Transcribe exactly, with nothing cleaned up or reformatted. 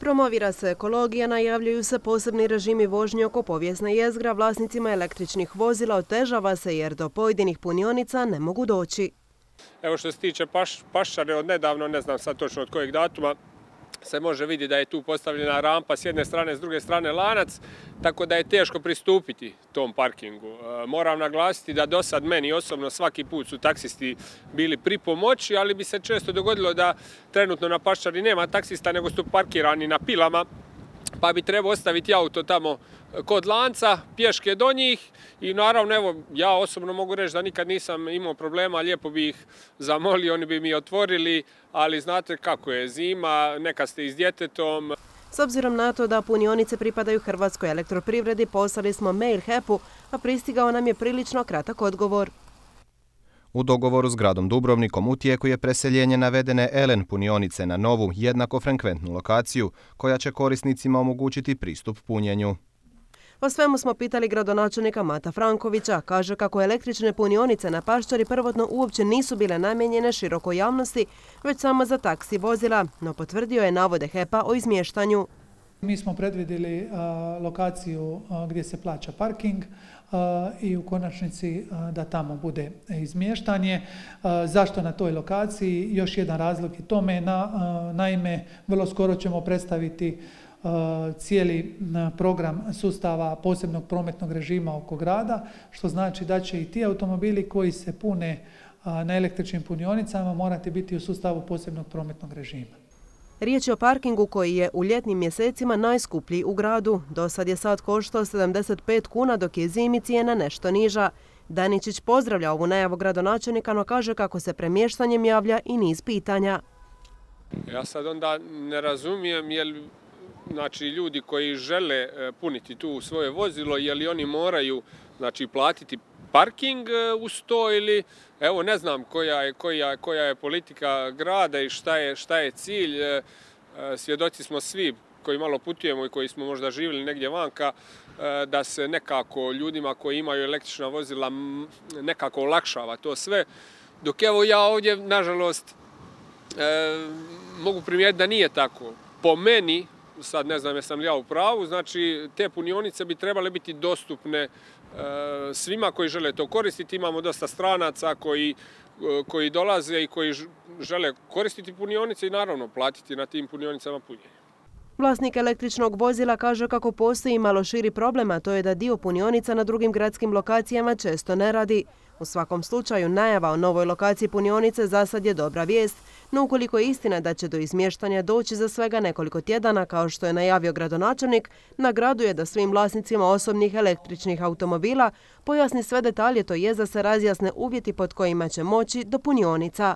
Promovira se ekologija, najavljuju se posebni režimi vožnje oko povijesne jezgra, vlasnicima električnih vozila otežava se jer do pojedinih punionica ne mogu doći. Evo što se tiče paš, Paščane od nedavno, ne znam sad točno od kojeg datuma, se može vidjeti da je tu postavljena rampa s jedne strane, s druge strane lanac, tako da je teško pristupiti tom parkingu. E, moram naglasiti da do sad meni osobno svaki put su taksisti bili pri pomoći, ali bi se često dogodilo da trenutno na Paščani nema taksista, nego su parkirani na pilama, pa bi trebao ostaviti auto tamo kod lanca, pješke do njih i naravno, evo, ja osobno mogu reći da nikad nisam imao problema, lijepo bi ih zamolio, oni bi mi otvorili, ali znate kako je, zima, nekad ste i s djetetom. S obzirom na to da punionice pripadaju Hrvatskoj elektroprivredi, poslali smo mail H E P-u, a pristigao nam je prilično kratak odgovor. U dogovoru s gradom Dubrovnikom u tijeku je preseljenje navedene L N punionice na novu, jednako frekventnu lokaciju, koja će korisnicima omogućiti pristup punjenju. O svemu smo pitali gradonačelnika Mata Frankovića. Kaže kako električne punionice na Paščari prvotno uopće nisu bile namijenjene širokoj javnosti, već samo za taksi vozila, no potvrdio je navode H E P-a o izmještanju. Mi smo predvidjeli a, lokaciju a, gdje se plaća parking a, i u konačnici a, da tamo bude izmještanje. A, zašto na toj lokaciji? Još jedan razlog je tome. Na, a, naime, vrlo skoro ćemo predstaviti cijeli program sustava posebnog prometnog režima oko grada, što znači da će i ti automobili koji se pune na električnim punionicama morati biti u sustavu posebnog prometnog režima. Riječ je o parkingu koji je u ljetnim mjesecima najskuplji u gradu. Do sad je sat koštao sedamdeset pet kuna, dok je zimi cijena nešto niža. Daničić pozdravlja ovu najavu gradonačelnika, no kaže kako se premještanjem javlja i niz pitanja. Ja sad onda ne razumijem jel znači ljudi koji žele puniti tu svoje vozilo, je li oni moraju znači platiti parking uz to ili evo ne znam koja je, koja, koja je politika grada i šta je, šta je cilj. Svjedoci smo svi koji malo putujemo i koji smo možda živjeli negdje vanka da se nekako ljudima koji imaju električna vozila nekako olakšava to sve. Dok evo ja ovdje nažalost mogu primijetiti da nije tako. Po meni, sad ne znam jesam li ja u pravu, znači te punionice bi trebale biti dostupne e, svima koji žele to koristiti. Imamo dosta stranaca koji, e, koji dolaze i koji žele koristiti punionice i naravno platiti na tim punionicama punjenje. Vlasnik električnog vozila kaže kako postoji malo širi problem, a to je da dio punionica na drugim gradskim lokacijama često ne radi. U svakom slučaju, najava o novoj lokaciji punionice za sad je dobra vijest, no ukoliko je istina da će do izmještanja doći za svega nekoliko tjedana, kao što je najavio gradonačelnik, na gradu je da svim vlasnicima osobnih električnih automobila pojasni sve detalje, to je da se razjasne uvjeti pod kojima će moći do punionica.